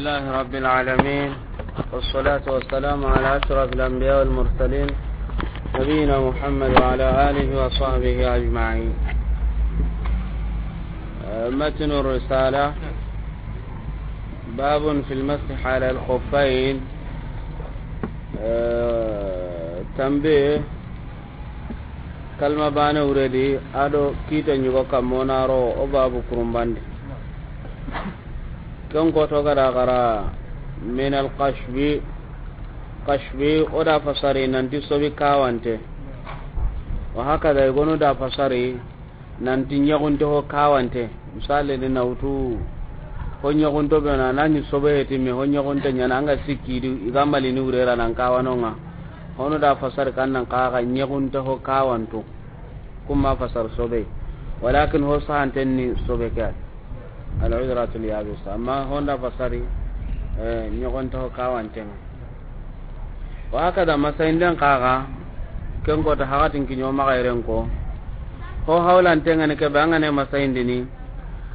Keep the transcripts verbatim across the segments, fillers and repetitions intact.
لله رب العالمين، والصلاة والسلام على أشرف الأنبياء والمرسلين، نبينا محمد وعلى آله وصحبه أجمعين. آه، متن الرسالة، باب في المسح على الخفين. آه، تنبيه. Kalma bane wuredi, ado kite ñugo kammo na ro o babu kurumbandi. Ken koto gada gara min al kashfi, kashfi o da fasari nanti sobi kawante. Wa hakada i gonu da fasari nanti ñagunte ho kawante. Misali ni na wutu ho ñagunto be na, na ñi sobe heti me ho ñagunte ñana anga sikki di i ga mali ni wurera nan kawanonga. Hono da fasari kan nan kaga ñagunte ho kawanto. Kuma fasar sobe. Walakin ho sahanten ni sobe ke. Al udratul yabisa. Amma honda fasari, eh, ñagunte ho kawantenga. Wa hakada masahinden kaga, ken koto hakatin kiño maxa yeren ko. Ho hawlantenga ni kebe, an ga ne masahindini,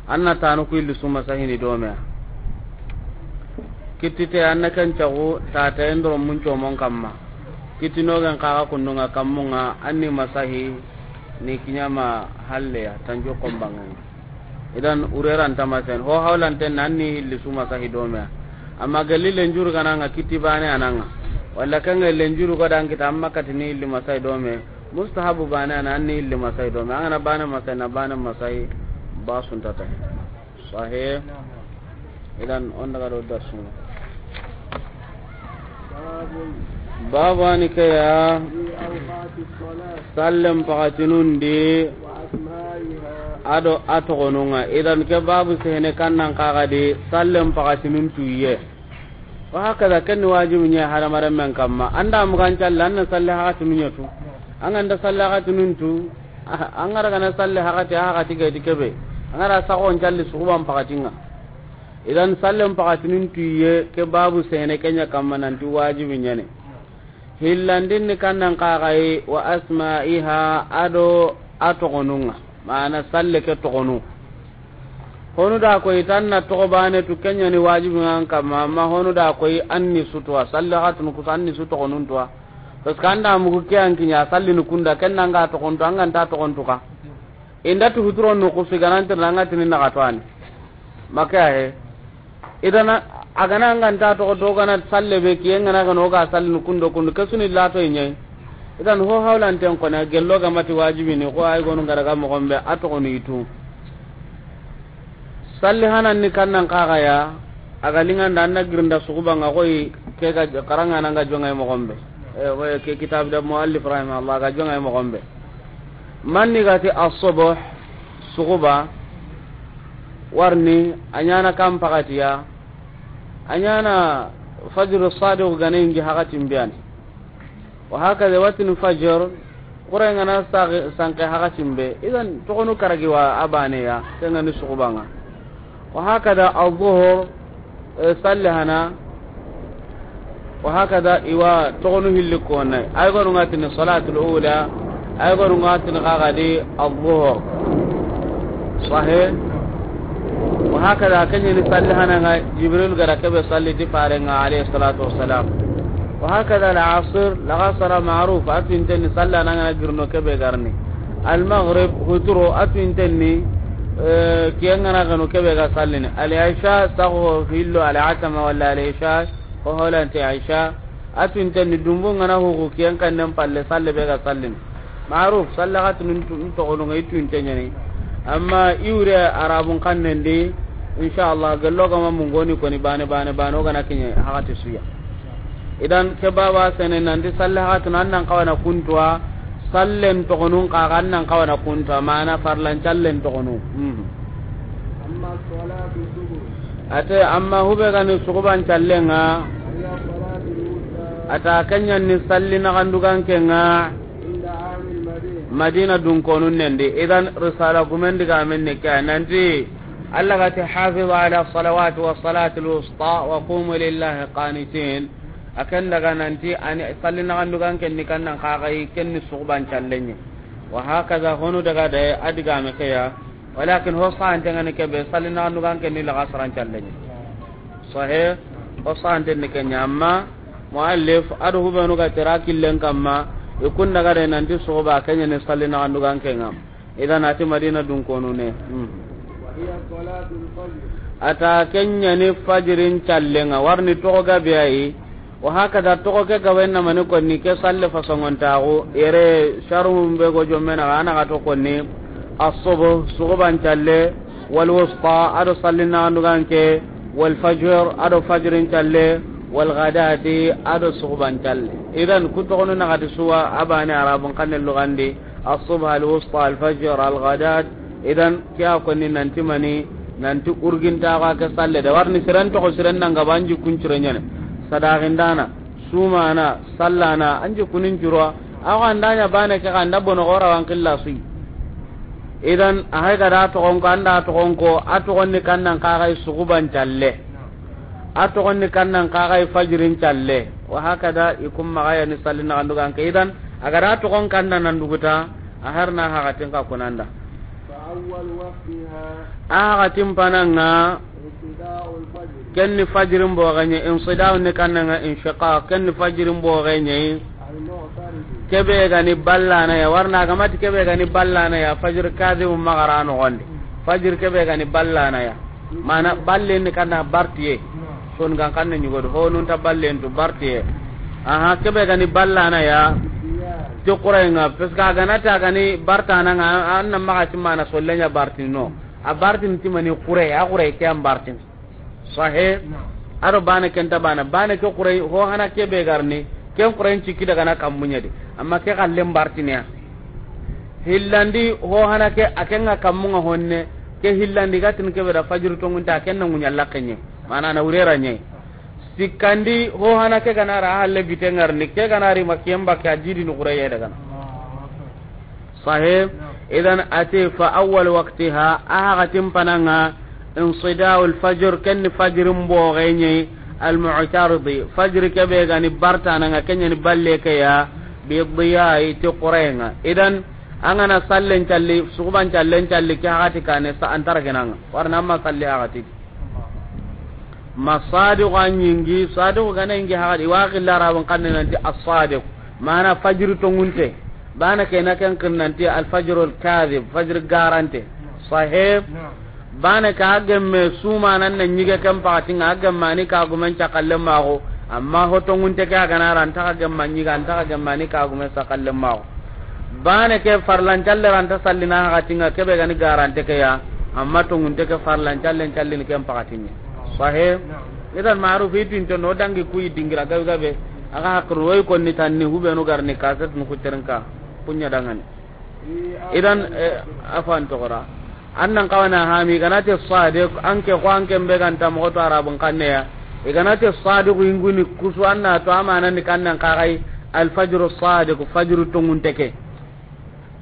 an na tanu ku illi su masahini do me. Kittite an na ken cagu tata endoro mun comon kamma. Kittinogen kaga kundunga kammunga, an ni masahi ni kiñama halleya, tanjo kombangani. Idan ureranta masen ho hawlanten na an ni hilli su masahi do me. Amma galli lenjuru gananga kitti bane ananga. Walla kanga lenjuru godan kita amma katini hilli masahi do me. Mustahabu bane ana an ni hilli masahi do me. An gana bane masahi na bane masahi ba suntata. Sahih. Idan on daga do darsunga. Babu ani ke ya. Sallen pakatinun di. Ado a togonunga. Idan ke babu sehene kannan kaga di sallen pakatinun tuye. Wa hakada ken ni wajibi ña hadamaren men kamma. Anda mugan calle an na salle hakatinun ña tu. An ganda salle hakatinun tu. An gara gana salle hakati a hakati gaiti kebe. An gara sagon calle suguban pakatinga. Idan sallen pakatinin tuye ke babu sene kenya kamma nanti wajibi ñane. Hillandin ni kannan kaxayi wa asma'iha ado a togonunga. Mana salle ke togonu. Honu da koy tan na togo bane tu kenya ni wajibi ngan kamma, amma honu da koy an ni sutuwa. Salle hatun kusa an ni su togonun tuwa. Parce que anda mugu ke an kiña salli ni kunda ken nanga togontu an ganta togontu ka. Inda tu huturo no kusu ganantir nanga tini naga to ani. Maka he. Idana agana nganta to do gana salle be kiyen ngana gano ga salli ni kundo kundu kesuni lato inyai. Idan ho hawlanten kona gello ga mati wajibi ni ko ay gonu ngara ga mo gombe a togonu itu. Salli hanan ni kannan kaga ya, a ga linganda an na girinda suguba nga koy ke ga karanga nan ga jongay mo gombe. E, ke kitab da muallif rahimahullah ga jongay mo gombe. Manni gati as-subh suguba warni a ñana kam pakatiya, a ñana fajr sadiq gane ingi hakatin biyani. Wa hakada watini fajr, kure ngana sagi-, sanke hakatin be. Idan togonu karagi wa a bane ya, ke ngani sugubanga. Wa hakada al-zuhur, eh, salli hana. Wa hakada iwa togonu hilli kone. Ay gonu ngatini salatul ula, ay gonu ngatini kagadi al-zuhur. Sahih. Wa hakada kenyani salli hana nga Jibril gara kebe salli ti farenga alayhi salatu wassalam. Wa hakada al-asr, lagasara ma'ruf, a tu intenni salli hana nga girno kebe garni. Al-maghrib, huturo, a tu intenni, eh, kiyen ngana gano kebe ga sallini. Al-isha, sago hillo, al-atama wala al-isha, ho holante isha. A tu intenni dumbu ngana hugu kiyen kannen palle salle be ga sallini. Ma'ruf, salle ga tunun tu-, togonu nga i tu intenyani. Amma iwre arabun kannen di, insha Allah, gello gama mungoni koni bane, bane, bane, o gana kinye, hakati suya. Idan ke baba sene nanti salle hakati nan nan kawana kuntuwa, sallen togonun kaga nan kawana kuntuwa, mana farlan callen togonu. Mhm. Amma salatu subh. Ate amma hube gani suguban callenga. Hiya salatu wusta. Ata kenya ni salli na gandugan kenga. Inda ahli al-Madina. Madina dun konun nendi. Idan risala gumen diga men ne ka nanti Allah gati hafizu ala salawati wa salati al-wusta wa qumu lillahi qanitin. Akan daga nanti ani salli na gandugan ken ni kannan kagai ken ni suguban callenye. Wa hakaza honu daga da adiga me kaya. Walakin ho sante ngani kebe salli na gandugan ken ni laga saran callenye. Sahih. O sahanten ni ke ɲa, amma muallif a do hubenu ga tera killen kamma, i kun daga de nanti suxuba ke ɲa ni salli naxandugan ke ŋa. Idan a ti Madina dunkonun ne. Hmm. وهي صلاة الفجر. A ta ke ɲa ni fajirin callen ŋa, warni toxo gabe ayi. Wa hakada toxo ke gabe na mani konni ke salle fasongontaxu, yere sharuhun be go jommena ga na ga to konni, as-subh, suxuban calle, wal wusta, a do salli naxandugan ke, wal fajr, a do fajirin calle, wal ghadati, a do suxuban calle. Idan ku toxonu naxati suwa a bane arabun xanne lugandi, as-subh, al wusta, al fajr, al ghadat. Idan ke a konni nanti mani, nanti urgintaxu a ke salle de. Warni siren toxo siren nanga ba an jikkun cire ɲa ni. Sadaxindana, sumana, sallana, an jikkunin curo. Axa an da ɲa bane ke xa an da bono xora wan xilla suyi. Idan a hay ga da toxon ko, an da toxon ko, a toxon ni kannan kaxay suxuban calle. A toxon ni kannan kaxay fajirin calle. Wa hakada i kun maxa ya ni salli naxandugan ke. Idan a ga da toxon kannan nan duguta, a har na haxatin ka kunanda. فأول وقتها A haxatin pananga, انصداء الفجر. Ken ni fajirin boxe ɲa, insida'u ni kannan ŋa inshiqaq, ken ni fajirin boxe ɲa. المعترض. Kebe ga ni ballana ya, warna ga mati kebe ga ni ballana ya, fajir kadibu maxa ra noxondi. Fajir kebe ga ni ballana ya. Mana balle ni kanna bartiye. Son gan kanne ɲugodo, honun ta ballen tu bartiye. Aha, kebe ga ni ballana ya. Ti xurayen ŋa, parce que a ga na ta ga ni bartana ŋa, an na maxa ti mana solle ɲa bartini no. A bartini ti mani xure, a xure ke an bartini. Sahe. A do bane ken ta bana, bane ke xure, ho hana kebe ga ri ni, ken xure cikki daga na kammun ɲa di. Amma ke xallen bartini ya. Hillandi, ho hana ke, a ken ŋa kammun ŋa honne, ke hillandi ga tin kebe da fajiri tongunte, a ken na ŋuɲa laxe ɲa. Mana na wurera ɲa. Sikkandi, ho hana ke ga na ra a halle bite ŋa ri ni, ke ga na ri ma ken bakke a jidi ni xureye daga na. Sahe. Idan a ti fa awwal waqtiha, a haxatin pananga, insida'ul fajr, ken ni fajirin boxe ɲa, al mu'taridi, fajiri kebe ga ni bartana ŋa, ken ɲa ni balle ke ya, bi diya'i, ti xureye ŋa. Idan an ga na sallen calli, suxuban callen calli, ke haxati kane sa antara kenanga. Warna amma salli haxati. Ma sadiqu a ɲingi, sadiqu ga na ɲingi haxati, i wa xilla arabun xanne nanti as-sadiq. Mana fajiri tongunte. Bana ke na ken xiri nanti al-fajrul kadhib, fajiri garante. Sahih. Bana ke a gemme suma nan na ɲige ken paxati ŋa, a gemme a ni kagumen cakalle maxo. Amma ho tongunte ke a ga na ra, an ta xa gemme a ɲiga, an ta xa gemme a ni kagumen cakalle maxo. Bane ke farlan calle ra an ta sallina haxati ŋa, kebe ga ni garante ke ya, amma tongunte ke farlan callen callini ken paxati ɲa. Sahe. Idan maruf i tinto no dangi ku yi dingira gabe gabe. A ga hakkuru woy konni tanni hubenu ga ri ni kaset nu ku terinka kuɲa dangani. Idan, eh, afan toxora. An nan xawana hami, i ga na ti sadiq, an ke xo an ke be ga nta moxo to arabun xanne ya. I ga na ti sadiq yinguni kusu an na to amana ni kannan kaxay al-fajru sadiq, fajru tongunte ke.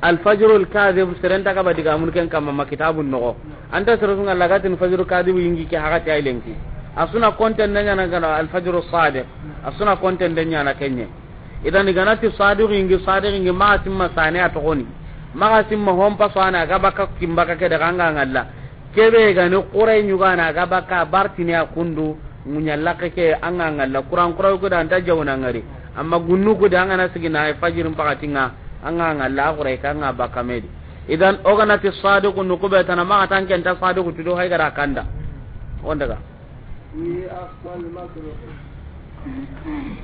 Al-fajrul kadhib, seren ta ga ba digamun ken kamma ma kitabun noxo. An ta sere su ŋa lagatin fajru kadhib yingi ke haxati ay lenki. A su na konten de ɲana ga na al-fajru sadiq. A su na konten de ɲana kenye. Idan i ga na ti sadiq yingi, sadiq yingi, maxa simma sane a toxoni. Maxa simma hompa sane a ga baka kimbaka ke daga anga ŋalla. Kebe ga ni xure ɲugana a ga baka bartini a kundu, ŋuɲa laxe ke anga ŋalla. Kuran xure ku da an ta jawna ŋari. Amma gunnu ku da an ga na sigina ay fajirin paxati ŋa, anga ŋalla a xure ke anga baka medi. Idan o ga na ti sadiq nu ku be tana maxa tan ken ta sadiq tu do hay ga ra kanda. On daga. في أقصى المشرق.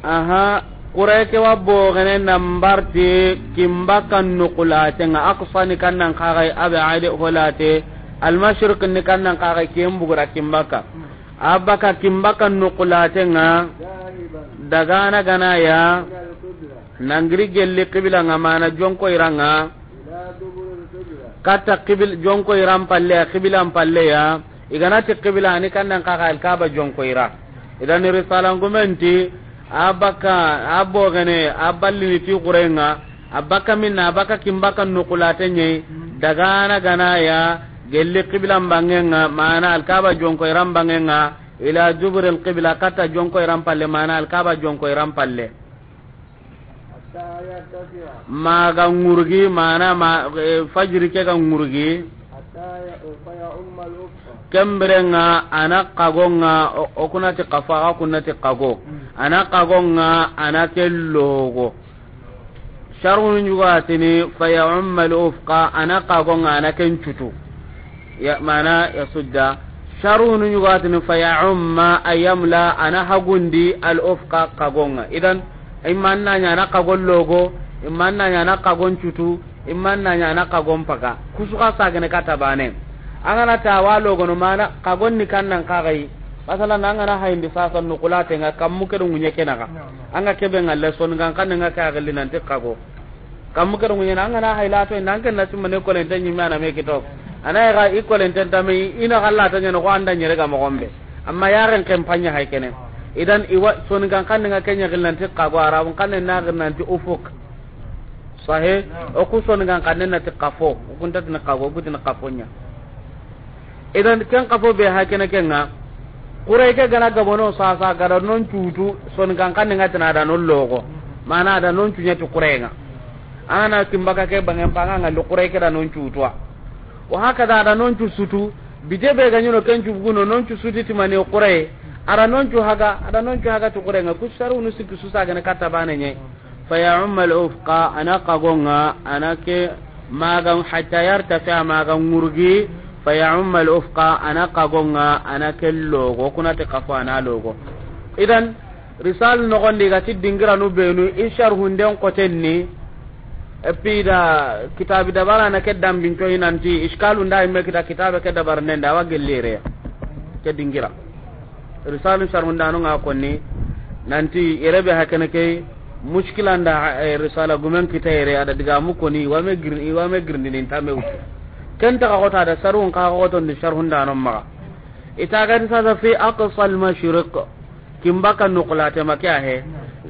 Aha, xure ke wa boxene nan barti kimbaka nuxulate ŋa, aqsa ni kannan kaxay ab'ad holate, al-mashriq ni kannan kaxay ken bugura kimbaka. A baka kimbaka nuxulate ŋa, ذاهبا dagana gana ya, إلى القبلة nangiri gelli qibla ŋa mana jonko ira ŋa. إلى دبر القبلة. Katta qibil-, jonko iran palle ya, qiblan palle ya. I ga na ti qibla ni kannan kaxa Alkaba jonko ira. Idan risalan gumenti, a baka, a bogene, a ballini ti xurenga, a baka minna, a baka kimbaka nukulate ɲei, dagana gana ya, gelli qiblan bangenga, mana Alkaba jonko iran bangenga, ila duburil qibla, katta jonko iran palle, mana Alkaba jonko iran palle. حتى يرتفع. Ma ga ŋurgi, mana ma, eh, fajiri ke ga ŋurgi. حتى ي-، فيعم الأفق. Ken biren ŋa a na xagon ŋa, o, o ku na ti xafo, a ga ku na ti xago. A na xagon ŋa, a na ke logo. Sharhunu ɲugo a tini, fa ya umma al ufqa, a na xagon ŋa, a na ken cutu. Ya, mana ya sudda. Sharhunu ɲugo a tini, fa ya umma, ay yamla, a na hagundi al ufqa xagon ŋa. Idan, imma na ɲa a na xagon logo, imma na ɲa a na xagon cutu, imma na ɲa a na xagon paga. Ku su xa sagene katta bane. An ga na ti a wa logono mana xagon ni kan nan xa ga yi. Masalan, an ga na hayindi sasa nuxulaten ŋa, kammu ke do ŋuɲe ke naxa. An ga ke be ŋa le, soninkan xannen ŋa ke a gilli nanti xago. Kammu ke do ŋuɲe na, an ga na hay lato inda, an ken na simma ne kolente ɲimme a na me kito. A na ya ga i kolenten tame, i na xa lato ɲa no ko an da ɲere ga moxo be. Amma yaren ken paɲa hay kene. Idan i wa soninkan xannen ŋa ke ɲa gilli nanti xago, arabun xannen na gilli nanti ufuk. Sahe, o ku soninkan xannen na ti xafo, o ku nta ti ni xago, o ku ti ni xafo ɲa. Idan ken xafo be ha kene ken ŋa, xure ke ga na gabono sasa, ga da non cutu, soninkan xannen ŋa ti na da non logo. Mana da non cuɲa ti xure ŋa. A na kimbaka ke bangen pa ŋa, ŋa li xure ke da non cutu wa. O haka da, da non cu sutu, bite be ga ɲi no ken cu buguno, non cu sutu ti mani xure. A da non cu haga, a da non cu haga ti xure ŋa, ku sharhunu sikki su sagene katta bane ɲe. Fa ya umma al ufqa, a na xagon ŋa, a na ke magan, hatta yartafi, a magan ŋurgi. Fa ya umma al ufqa, a na xagon ŋa, a na ke logo, ku na ti xafo a na logo. Idan, risal noxon di ga ti dingiranu benu, i sharhunden xoten ni, et puis da kitabi dabara na ke dambin coyi nanti, iskalu nda imme kita kitabe ke dabarnden da, a wa gellire ke dingira. Risalu sharhundano ŋa konni nanti yere be hakene ke mushkila nda, eh, risala gumen kita yere, a da digamu koni, i wa me gir-, i wa me girndini nta me wutu. Ken ta xa xota da sharhun xa xoton di sharhundano maxa. I ta ga ti sasa fi aqsa al mashriq, kimbaka nuxulate ma ke a he.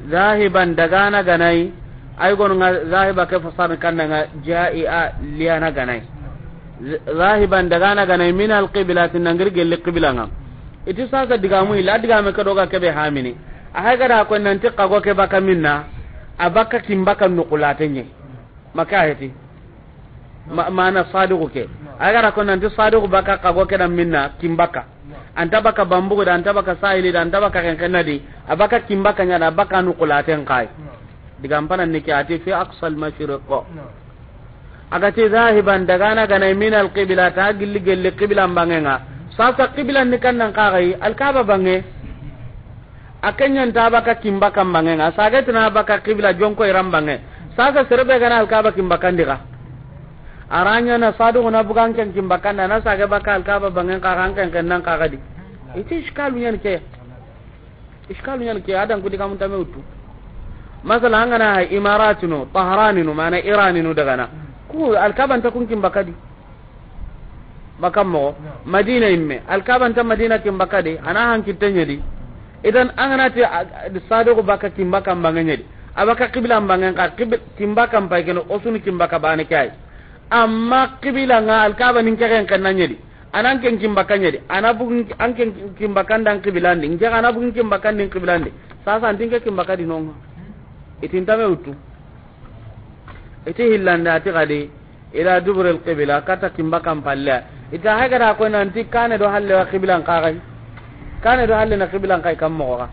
Zahiban, dagana ga na yi, ay gonu ŋa zahiba ke fasarni kanna ŋa ja'i a liyana ga na yi. Z-, zahiban, dagana ga na yi, min al qiblati, na giri gelli qibla ŋa. I ti sasa digamu illa, digame ke do ga ke be hamini. A hay ga da ko nanti xago ke baka minna, a baka kimbaka nuxulate ɲe. Ma ke a heti. Ma, mana sadiqu ke. A ga da ko nanti sadiqu baka xago ke da minna kimbaka. Anta baka bambugu da, anta baka sahili da, anta baka kenkenna di. A baka kimbaka ɲa da, a baka nuxulaten xa yi. Digan pana ni ke a ti fi aqsa al mashriq. A ga ti zahiban, dagana ga na yi, min al qibla, ta gilli gelli qibla bangen ŋa. Sasa qibla ni kannan xa ga yi, al Kaaba bange. A ke ɲa nta baka kimbaka bangen ŋa, sage ti na baka qibla jonko iran bange. Sasa sere be ga na al Kaaba kimbakandi ga. A ra ɲa na sadiqu na bugan ken kimbakandi, a na sage baka al Kaaba bangen xa ga, an kenkennan xa ga di. I ti iskalu ɲa ni ke. Iskalu ɲa ni ke, a da n ku digamun ta me wutu. Masala, an ga na hay Imaratinu, Tahraninu, mana Iraninu dagana. Ku al Kaaba nta kun kimbaka di. Baka moxo. Madina imme, al Kaaba nta Madina kimbaka di, a na hankitte ɲa di. Idan an ga na ti, a, a, sadiqu baka kimbaka bange ɲa di. A baka qibla bangen xa, qib-, kimbaka pay kene, o su ni kimbaka bane ke a yi. Amma qibla ŋa al Kaaba ni n ke kenkenna ɲa di. A na n ken kimbaka ɲa di. A na bugu n ke, an ken kimbaka nda n qiblan di. N ke a na bugu n kimbaka ndi n qiblan di. Sasa an ti n ke kimbaka di no ŋa. I ti nta me wutu. I ti hillande a ti ga di, ila dubur al qibla, katta kimbaka palle. I ta hay ga da ko nanti kane do halle wa qiblan xa ga yi. Kane do halle na qiblan xa yi, kam moxo xa.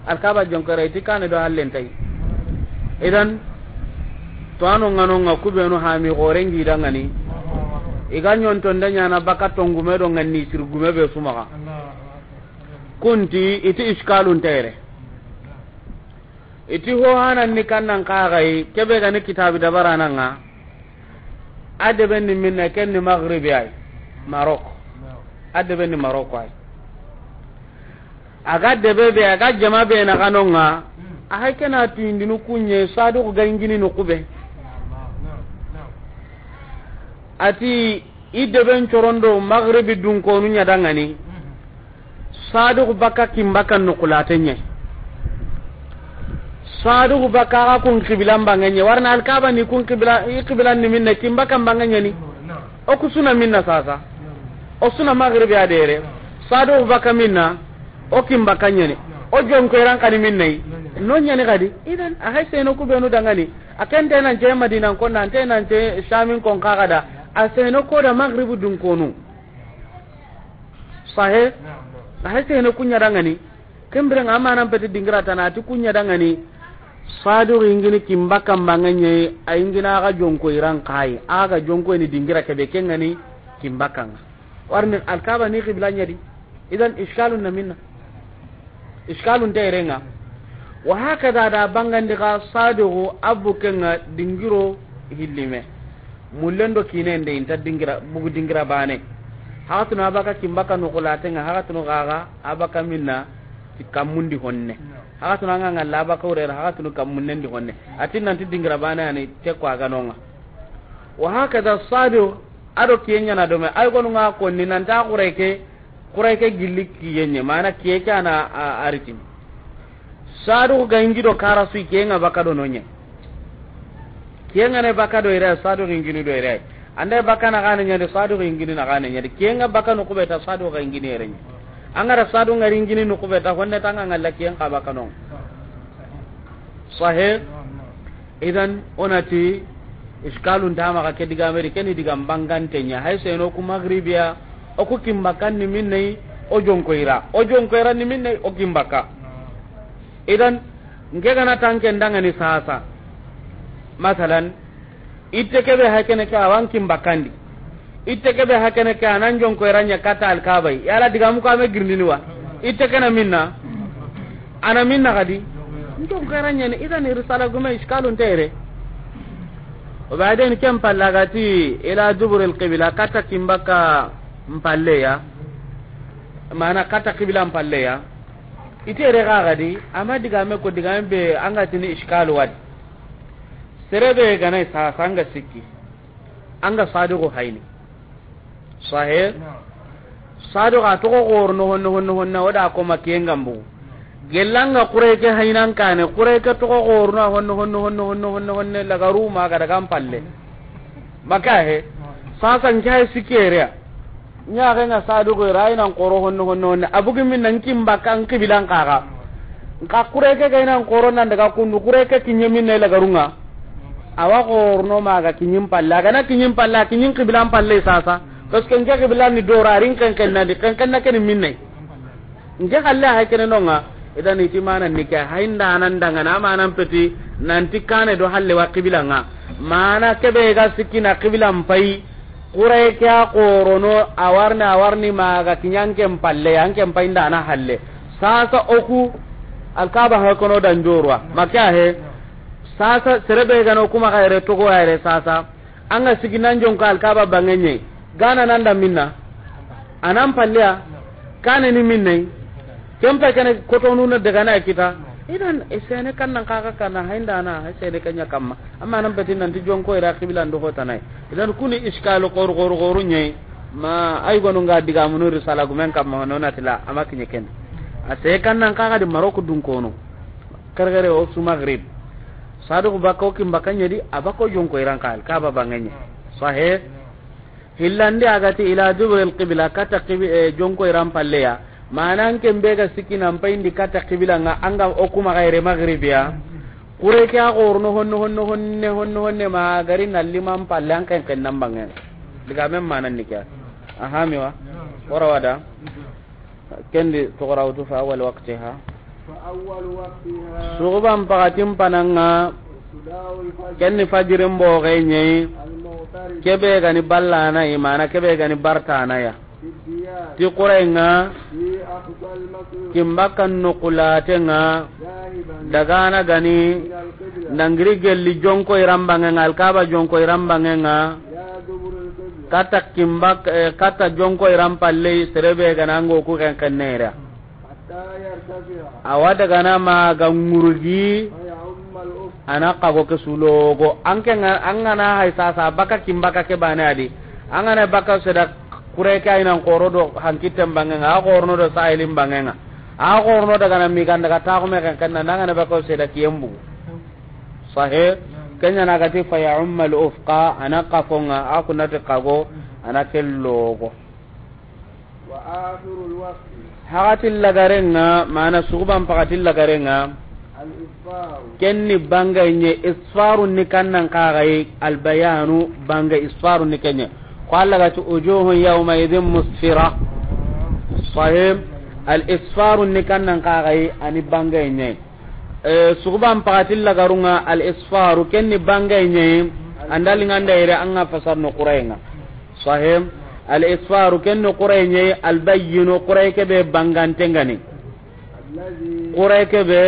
Al Kaaba jonkere, i ti kane do halle nta yi. Idan, to ano ŋa no ŋa, ku benu hami xoren gi da ŋa ni. I ga ɲonto nda ɲa na baka tongume do ŋa ni sir gume be su maxa. Kun ti, i ti iskalun ta yere. I ti ho hanan ni kannan xa ga yi, ke be ga ni kitabi dabarana ŋa. A debe ni minna, ken ni Maghribi ay. Maroc. A debe ni Maroc ay. A ga debe be, a ga jama be na ga no ŋa. A hay ke na tuyindinu kuɲe, sadiqu ga ingini no kube. A ti, i deben corondo Maghribi dunkonu ɲa da ŋa ni. Sadiqu baka kimbaka nuxulate ɲe. Sadiqu baka ga kun qiblan bange ɲe. Warna al Kaaba ni kun qibla, i qiblan ni minna, kimbaka bange ɲa ni. O ku su na minna sasa. O su na Maghribi a dere. Sadiqu baka minna, o kimbaka ɲa ni. O jonko iran xa ni minna yi. No ɲa ni ga di. Idan, a hay seno ku benu da ŋa ni. A ken te nan ce Madina ko, nan te nan ce Shamin ko xa ga da. A seno ko da Maghribi dunkonu. Sahe? Sahe sehene kunya dangani. Kembere nga amanan peti dingira tana ati kunya dangani. Sadu ingini kimbaka mbangenye a ingina aga jonko iran kai. Aga jonko ini dingira kebe kengani kimbaka nga. Warni alkaba ni qibla nyadi. Idan iskalun na minna. Iskalun ta irenga. Wa hakada da bangandi ga sadu abu kenga dingiro hillime. Mullendo kine nde inta dingira, bugu dingira bane. Hakatunu abaka kimbaka nukulatenga, hakatunu gaga abaka minna ti kammundi honne. Hakatunu anga ngalla abaka urera, hakatunu kammunnendi honne. Atin nanti dingira bane ani teko aganonga. Wa hakada sadu ado kiyenya na dome. Ay gonu nga konni nanta kureke, kureke gilli kiyenye. Mana kiyeke ana a- aritin. Sadu ga ingi do kara sui kiyenga baka do nonye. Kiyenga ne baka do ire sadu ga ingini do ire. Anda baka na gane nyade sadu ga ingini na gane nyade. Kiyenga baka no kubeta sadu ga ingini ire nye. Angara sadu ngari ingini no kubeta honne tanga ngalla kiyenga baka no. Sahe? Idan onati iskalun tama ga ke diga meri keni diga mbangante nya. Hay seno ku magribiya o ku kimbaka ni minne o jonko ira. O jonko ira ni minne o kimbaka. Idan nke gana tanke ndangani sasa. Masalan, itte kebe hakene ke awan kimbakandi. Itte kebe hakene ke anan jonko iranya kata alkabai. Yala diga muka me girnini wa. Itte kena minna. Ana minna gadi. Jonko iranya ni idan irsala gume iskalun tere. O baden kem pallagati ila dubur alqibla kata kimbaka mpalleya. Mana kata qibla mpalleya. Ite re ga gadi, ama diga me ko diga me be anga tini iskal wadi. Serebe ganai sasa anga sikki. Anga sadiqu hayni. Sahe? Sadiqu a toxo gorno honno honno honno oda ko makiyenga mbu. Gelanga kureke haynan kane, kureke toxo gorno honno honno honno honno honno honno lagaru ma ga daga mpalle. Maka he. Sasa nke hay sikere. Nya ga nga sadu go ira inan koro honno honno honne. Abugi min nan kimba kan kibilan kaga. Nka kureke ga inan koro nan daga kundu kureke kinye min ne lagarunga. Awa gorno maga kinyin palla. Gana kinyin palla, kinyin kibilan palle sasa. Parce que nke kibilan ni dora rin kan kan na di kan kan na ken min ne. Nke halle hay kene nonga, idan iti mana ni ke, hay nda nan danga na mana peti, nanti kane do halle wa qibla nga. Mana kebe ga sikki na qibla mpai, kurai ke a korono, awarni, awarni maga kinyan ke mpalle, yan ke mpai nda na halle. Sasa oku, alkaba ha kono dan jorwa, maka he. Sasa serebe ga no kuma ga ire togo ya ire sasa. Anga sigi nan jonko alkaba bangenye. Gana nan da minna. Anan palleya. Kane ni minne. Kempa kene kotonu na daga na kita. Idan esene kan nan kaka kana hainda na esene kanya kamma. Amma nan betin nan ti jonko ira qibla ndo hota nai. Idan kuni iskal qor qor qoru nye. Ma ay gonu nga diga munu risala gumen kamma no natila ama kinye ken. Ase kan nan kaka di Maroko dun kono. Kargare o su Maghrib. Sadu bako kim bakanya di abako jonko iran kal kaba banganya. Sahih. Hillandi agati ila dubur al qibla kata qibi, eh, jonko iran palleya. Manan ken be ga sikki nan payindi kata qibla nga anga o kuma gaire maghribiya. Kure ke a gorno honno honno honne honno honne ma gari na liman palle an ken ken nan bangen. Diga men manan ni kya. Ahamiwa. Wara wada. Kendi togorawtu fa awwal waqtiha. Suguban pakatin pananga. Kenni fajirin boge nyei. Kebe gani ballana imana kebe gani bartana ya. Ti kurenga. Kimbakkan nukulate nga. Dagana gani. Nangiri gelli jonko irambangenga alkaba jonko irambangenga. Kata kimbak, eh, kata jonko iran palle serebe gana ngo ku ken kennera. Awa daga na ma ga ngurgi. Ana kago ke sulogo anke nga, angana hay sasa baka kimbaka ke bane adi. Angana baka seda kure ke aynan koro do hankitten bangenga a korno do sahilin bangenga. A korno daga na mi ganda ga ta ko me ken kenna nangana baka seda kiyembu. Sahe. Kenya na gati fa ya ummal ufqa ana kafonga akunate kago ana kellogo. Hakatin lagarenga mana suguban pakatin lagarenga. Kenni banga nye isfarun ni kannan kagai albayanu banga isfarun ni kenye. Ko Allah gati ujuhun yawma idhin musfira. Sahib, al isfaru ni kannan kaxayi, a ni bangaye ñayi. Eh, suxuban paxati lagarunga, al isfaru, ken ni bangaye ñayi. An da linganda yere, an ga fasar no xurayenga. Sahib, al isfaru, ken ni xuraye ñayi, al bayyinu, xuraye ke be bangante ngani. Xuraye ke be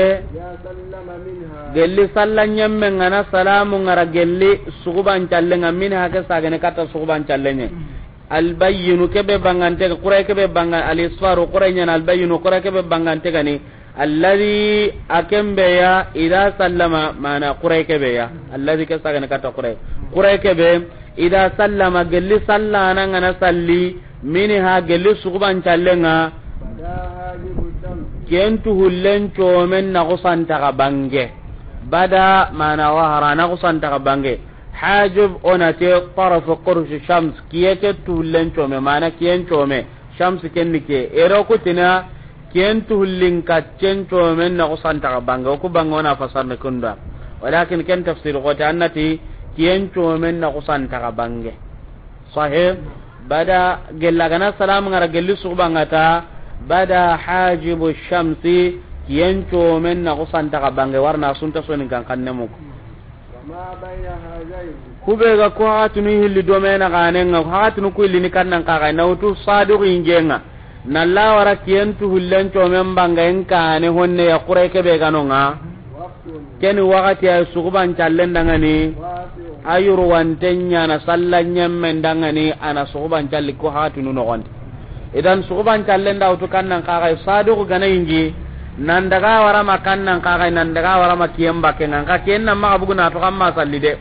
gelli salla ñemme ngana salamu ngara gelli suxuban callenga, min hake sagene katta suxuban callenye. Al bayyinu, ke be bangante, xuraye ke be bangan, al isfaru, xuraye ñana, al bayyinu, xuraye ke be bangante gani. Alladhi, a ken be ya, idha sallama, mana xuraye ke be ya. Alladhi ke sagene katta xuraye. Xuraye ke be, idha sallama, gelli sallana ngana salli, minha, gelli suxuban callenga. Ken tuhullen comen na xusantaxa bange. Bada mana wahara na xusantaxa bange. Hajib, o na ti taraf qursh shams, kiye ke tuhullen come, mana kiyen come, shams ken ni ke. Ero kutina, kiyen tuhullin kaccen comen na xusantaxa bange, o ku bange o na fasarni kunda. Walakin ken tafsir xote, an na ti kiyen comen na xusantaxa bange. Sahih, bada gella gana salam ngara gelli suxubangata, bada hajibu shamsi, kiyen comen na xusantaxa bange, warna sunta sonin kan kanne muku. Kube ga ko hakatunu hilli domena ganenga, hakatunu ku hilli ni kannan kaga, na wutu sadiqu ingenga. Na lawara kiyen tuhullen comen banga en kane honne ya xuraye ke be ganonga. Keni wakati ay suxuban callen dangani. Ayuru wanten ñana salla ñemmen dangani, ana suxuban calli ko hakatunu noxondi. Idan suxuban callen da wutu kannan kaga, sadiqu gana ingi, nan daga warama kannan kaga, nan daga warama kiyen bakenga, nka kiyen na maxa bugu na to kamma salli de.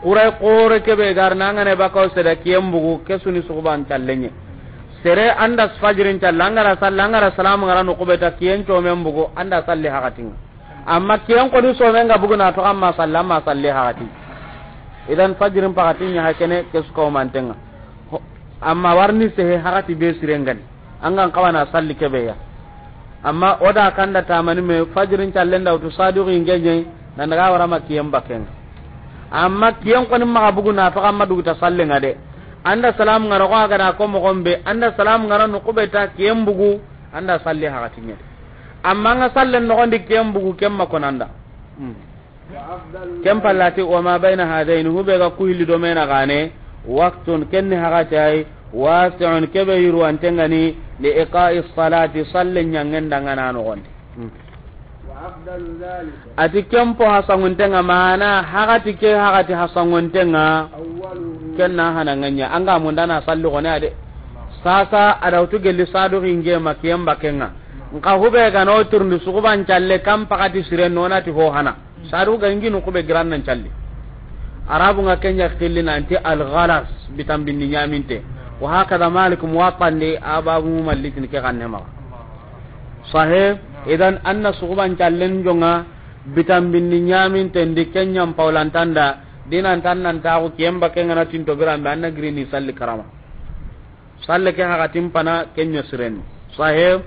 Xuraye xore ke be gar na ngane bakaw seda kiyen bugu, ke suni suxuban callenye. Sere anda fajirin calla, angara salla, angara salamu ngara no kubeta kiyen comen bugu, anda salli hakatinga. Amma kiyen koni somenga bugu na to kamma salla, amma salli hakati. Idan fajirin pakati ña hakene ke suka o mantenga. Ho-, amma warni sehe hakati be sirengani. Angan kawana salli ke be ya. Amma o da kanda tamani me fajirin callen da wutu sadiqu ingenye, nan daga warama kiyen bakenga. Amma kiyen koni maxa bugu na to kamma duguta sallenga de. Anda salam ngara ko aga da ko moxon be, anda salam ngara no kubeta kiyen bugu, anda salli hakatinye. Amma nga sallen noxondi kiyen bugu, ken ma konanda. Hmm. Ken pallati, wa ma bayna hadaini, hube ga ku hilli domena gane, waqtun, kenni hakati ay, wasi'un, kebe yurwantengani, li iqa'i salati, salle ñangen dangana noxondi. Hmm. Ati ken po hasanguntenga, mana hakati ke hakati hasanguntenga, ken na hananganya, anga mundana salli gone ade. Sasa adawtu gelli sadu hinge ma kiyen bakenga. Nka hube gano turndi suxuban calle kan pakati siren nonati ho hana. Sadu ga ingi no kube giran nan calli. Arabu nga kenya xilli nanti al ghalas, bitambindi ñaminte. Wa hakada Malik Muwatta ndi, ababu malikin ke kanne maxa. Sahe, idan anna suxuban callen jonga bitambindi ñaminte ndi, kenyan paulantanda, dinan tan nan taxu kiyen bakenga na tinto birambe anna girini salli karama. Salle ke hakatin pana kenya siren. Sahe.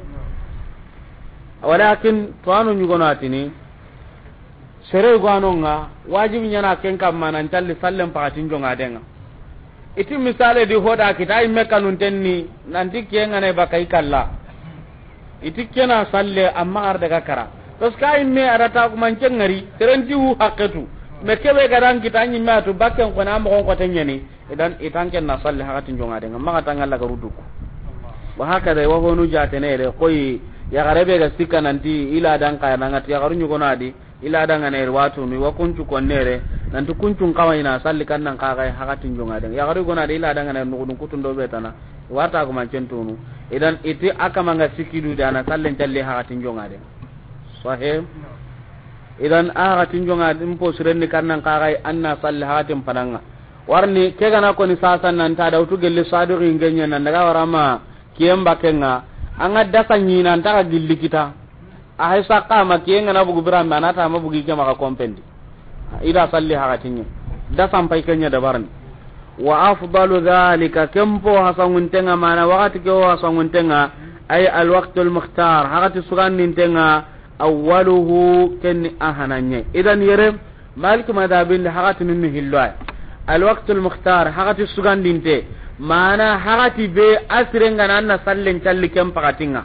Walakin to anu ñugono atini, sere gwanonga, wajibi ñana ken kamma nan calli sallen pakatin jonga denga. Iti misale di hoda kita imme kanuntenni, nanti kiyenga ne baka ikalla. Iti kena salle amma ar daga kara. Parce que imme arata kuma ngari, serenti hu haketu. Me kebe gadan kita ñimme atu bakken kona mo kon ko tenyani. Idan itan ken na salli hakatin jonga denga, maxa tanga laga ruduku. Wa hakada, wa honu jatenere, koy, yaxare be ga sikka nanti, ila dan kaya nangati, yaxaru ñugonadi, ila dan ganere, watunu, wa kuncu konnere, nanti kuncun kawa ina salli kannan kaga hakatin jonga denga. Yaxaru gonadi, ila dan ganere, nugudun kutun do betana, warta ko mancen tunu. Idan iti akamanga sikidu dana, sallen calli hakatin jonga denga. Sahih. Idan a hakatin jonga din po sirenni kannan kaga anna salli hakatin pananga. Warni ke gana koni sasa nan ta dawtu gelli sadiqi ngenya nan daga warama kiyen bakenga. Anga dasa ñi nan ta gilli kita. A hay sakka ma kiyen gana bugu birambe anata ma bugi ke maxa kompendi. Ida salli hakatinye. Dasa mpai kenya dabarni. Wa afdalu dhalika, ken po hasanguntenga, mana wakati ke o hasanguntenga, ay alwaqtul mukhtar, hakati sugandintenga, awwaluhu, kenni ahananye. Idan yere, Malik madhabin da hakati nunni hillo ay. Alwaqtul mukhtar, hakati sugandinte, Mana hagati be a siren ga na na sallen calli ken pakatinga.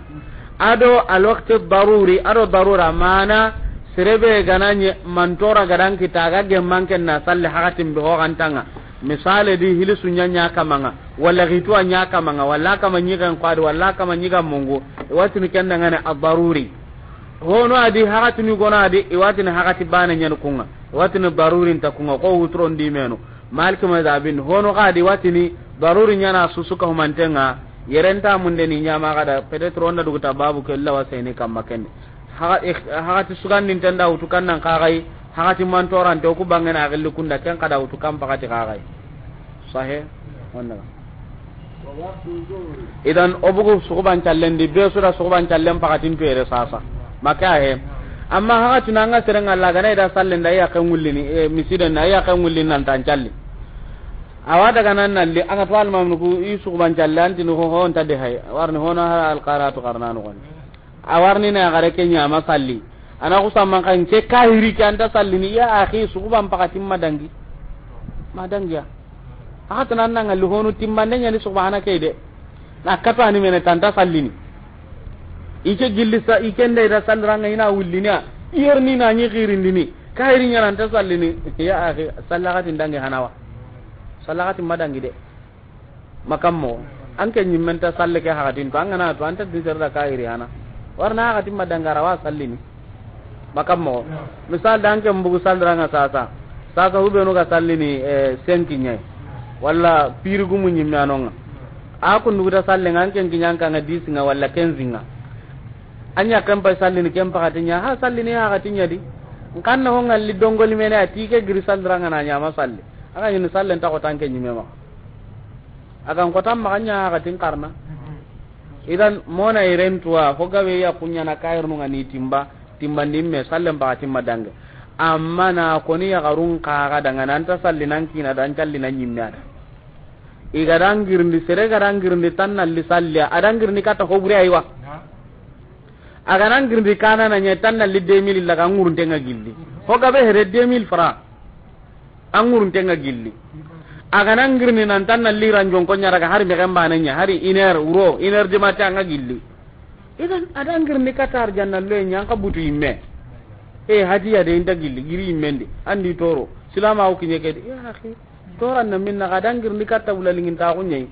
Ado alwakti daruri, ado darura, mana sere be ga na ɲi mantora ga dan kita ga gemman ken na salli hagatin be ho gantanga. Misale di hilisu ɲa ɲa kamanga, walla gituwa ɲa kamanga, walla kama ɲigen kwadi, walla kama ɲiga mungu. Iwatini ken dangane a daruri. Hono adi hagatini gono adi, iwatini hagati bane ɲani kunga. Iwatini daruri nta kunga, ko wutron di menu. Maliki mazhabin, hono ga di watini daruri ɲana susu ka humantenga, yerenta munde ni ɲama ga da, peut-être onda duguta babu ke lawa seni kamma kenne. Haga-, eh, hagati sugandinten da wutu kannan kagai, hagati mantorante, oku bangena agilli kunda, ken kada wutu kan pakati kagai. Sahe? Wanda. Idan, o bugu suguban callen di, be su da suguban callen pakatin to yere sasa. Maka he. Amma hagati na nga seren Allah gana ida sallen da ya kan wullini, eh, misiden na ya kan wullini nan tan calli. Awa daga nan nalli, anga to almamnu ku i suguban callen tinu ho, ho, nta de hay. Warni hono ha alqaratu qarnanu kon. A warni na gare ke ɲama salli. Ana ku samman kan ke kahiri ke anta sallini, ya akhi, suguban pakatin madangi. Madangiya. Hagati nan nanga li honu timmande ɲani subhana ke de. Na katu ani mene tanta sallini. Ike gilli sa, ike nda ida salliranga ina wullini a. Iyerni na ɲi girindini. Kahiri ɲana anta sallini. Ya akhi, sallagati ndangi hanawa. Sallagati madangi de. Makammo, an ke ɲimmen ta salle ke hagatin to, an gana to, an ta diser da kahiri hana. Warna hagatin ma dangara wa sallini. Makammo, misal da an ke mbugu salliranga sasa. Sasa hubenu ga sallini, eh, senki ɲai. Walla piri gumu ɲimme anonga. A kundugu ta salle nga an ke nkiɲan kanga disinga walla kenzinga. Anya kan pa sallini ken pakati ɲa, ha sallini hagatin ɲa di. Nkanna ho ngalli dongoli mene a ti ke giri salliranga na ɲama salli. Anga ɲini sallen ta ko tan ke ɲimme ma. Agan kotan maxa ɲa hagatin karna. Idan mona irentuwa fo gabe ya kuɲana kayirnu nga ni timba, timbandi me sallen ba timma dange. Amma na koni ya garun kaga danga nan ta salli nan kina dan calli nan ɲimme ada. Iga dan girndi sere ga dan girndi tan nalli salliya, adan girndi kata hobure aywa. Aga nan girndi kana na ɲe tan nalli deux mille laga ngurunte nga gilli. Fo gabe here deux mille francs. An ŋurunte nga gilli. A ga na ngirni nan tan na liran jonko ɲa daga hari mexen bane ɲa, hari une heure wuro, une heure du matin a nga gilli. Idan, a da ngirni kata arjanna loye ɲa, an ka butu yimme. E, hadiya de inta gilli, giri yimmendi. Andi toro. Silama o kiɲe ke di. Ya akhi, toran na minna ga da ngirni kata wula lingin ta ko ɲai.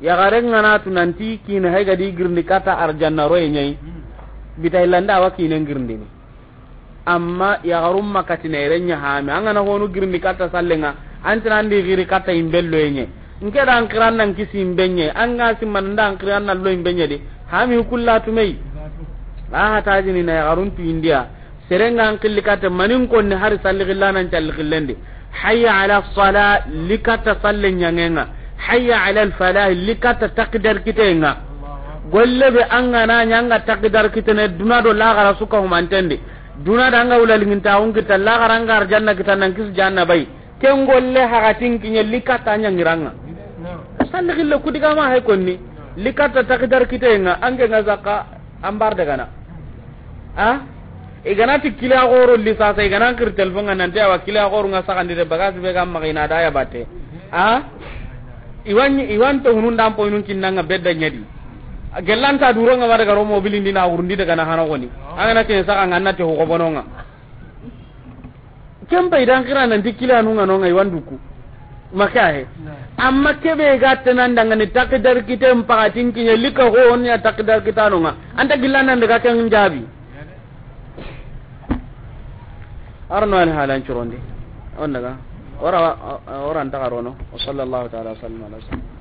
Yaxare nga na tu nanti kini hay ga di girndi kata arjanna roye ɲai. Bita illanda awa kine ngirndini. Amma yaxarum makati na ire ɲa hami. An ga na honu girndi kata sallenga. Antina andi giri kata imbello ye ɲai. Nke da an kiran nan kisi imbe ɲai. An ga simman da an kiran nan lo imbe ɲai di. Hami kulla tumei. A hatajini na yaxarun tu indiya. Serenga an killi katta manin konni hari salli xilla nan calli xillendi. Hayya ala sala, likatta salle ɲangenga. Hayya ala falah, likatta takdar kitenga. Golle be an ga na ɲanga takdar kitene duna do laxara suka humantendi. Duna da anga wula linginta un kita laxara anga arjanna kita nan kis janna bay. Ken golle hagatin kiɲe likatta ɲangiranga. Salli xille kudigama hay konni. Likatta takdar kitenga ange nga zakka ambar dagana. A? I gana ti kila xoro li sasa, i gana kir telefon nga nanti awa kila xoro nga saxandi de bagasi be ga maxa i na da ya batte. A? Iwan, iwan to hunun dan po inun kinnanga bedda ɲadi. Gellanta duro nga ma daga ro mobilin dina wurundi daga na hana goni. An ga na ken saxa nga na te ho bononga. Ken pay dan kira nanti kila nu nga no nga iwan duku. Maka he. Amma kebe ga tenan dangani takdar kiten pakatin kiɲe lika ho on ya takdar kitano nga. Anta gilla nan daga ken jabi. Arno al halan curondi. On daga. Ora, ora anta karono. Wa sallallahu ta'ala wa sallam ala sayyidina.